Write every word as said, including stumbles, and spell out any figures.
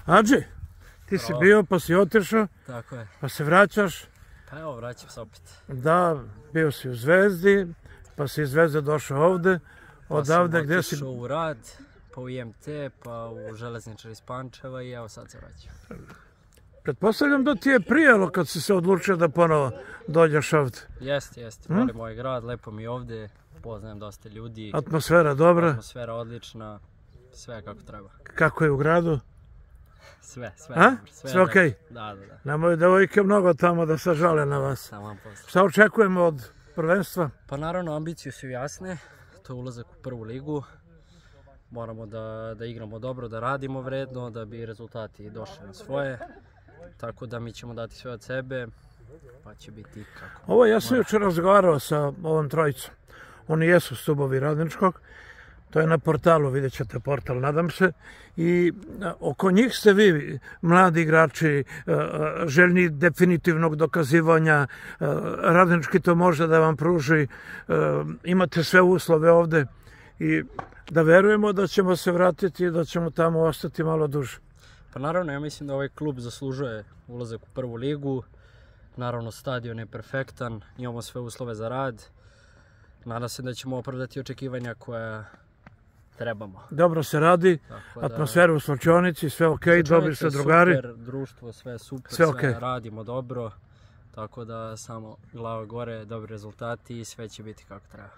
Adži, ti si bio pa si otišao, Tako je. pa se vraćaš. Pa evo, vraćam se opet. Da, bio si u Zvezdi, pa si iz Zvezde došao ovde. Odavde gdje si... Pa sam otišao u rad, pa u I M T, pa u Železničar iz Pančeva i evo sad se vraćam. Pretpostavljam da ti je prijelo kad si se odlučio da ponovo dođeš ovde. Jeste, jeste. Volim moj grad, lepo mi je ovde, poznajem dosta ljudi. Atmosfera dobra. Atmosfera odlična, sve kako treba. Kako je u gradu? Sve, sve. A? Dobro, Sve okej? Da, da, da. Nemoj devojke mnogo tamo da se žale na vas. Samo vam posle. Šta očekujemo od prvenstva? Pa naravno, ambicije su jasne. To je ulazak u prvu ligu. Moramo da, da igramo dobro, da radimo vredno, da bi rezultati došli na svoje. Tako da mi ćemo dati sve od sebe, pa će biti kako. Ovo ja sam jučer razgovarao sa ovom trojicom. Oni jesu stubovi Radničkog. To je na portalu, vidjet ćete portal, nadam se. I oko njih ste vi, mladi igrači, željni definitivnog dokazivanja. Radnički to može da vam pruži. Imate sve uslove ovde. I da verujemo da ćemo se vratiti i da ćemo tamo ostati malo duže. Pa naravno, ja mislim da ovaj klub zaslužuje ulazak u prvu ligu. Naravno, stadion je perfektan, imamo sve uslove za rad. Nadam se da ćemo opravdati očekivanja koja trebamo. Dobro se radi, atmosfera u slačionici, sve ok, dobri ste drugari. Super, društvo, sve super, sve, sve okay. Radimo dobro. Tako da samo glava gore, dobri rezultati i sve će biti kako treba.